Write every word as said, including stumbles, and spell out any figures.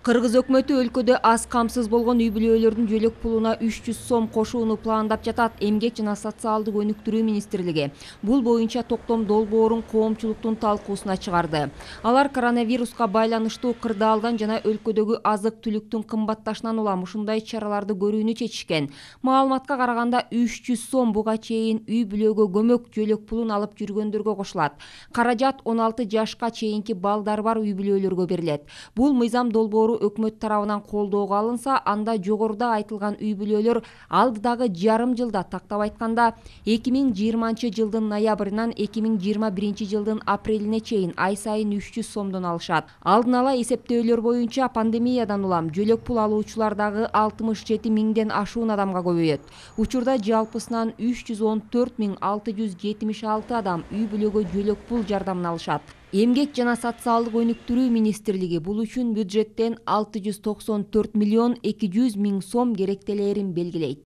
Кыргыз өкмөтү өлкөдө аз камсыз болгон үй бүлөлөрдүн жөлөк пулуна үч жүз сом кошууну пландап жатат. Эмгек жана социалдык өнүктүрүү министрлиги бул боюнча токтом долбоорун коомчулуктун талкуусуна чыгарды. Алар коронавируска байланыштуу кырдаалдан жана өлкөдөгү азык-түлүктүн кымбатташынан улам ушундай чараларды көрүүнү чечишкен. Маалыматка караганда үч жүз сом буга чейин үй бүлөгө көмөк жөлөк пулун алып жүргөндөргө кошулат. Каражат он алты жашка чейинки балдары бар үй бүлөлөргө берилет. Бул мыйзам долбоору өкмөт тарабынан колдоого алынса, анда жогоруда айтылган үй бүлөлөр алдыдагы жарым жылда, тактап айтканда эки миң жыйырманчы жылдын ноябрынан эки миң жыйырма биринчи жылдын апрелине чейин ай сайын үч жүз сомдон алышат. Алдын ала эсептөөлөр боюнча пандемиядан улам жөлөк пул алуучулар дагы алтымыш жети миңден ашуун адамга көбөйөт. Учурда жалпысынан үч жүз он төрт миң алты жүз жетимиш алты адам үй бүлөгө жөлөк пул жардамын алышат. Эмгек жана социалдык өнүктүрүү министрлиги бул үчүн бюджеттен алты жүз токсон төрт миллион эки жүз миң сом керектелерин белгилейт.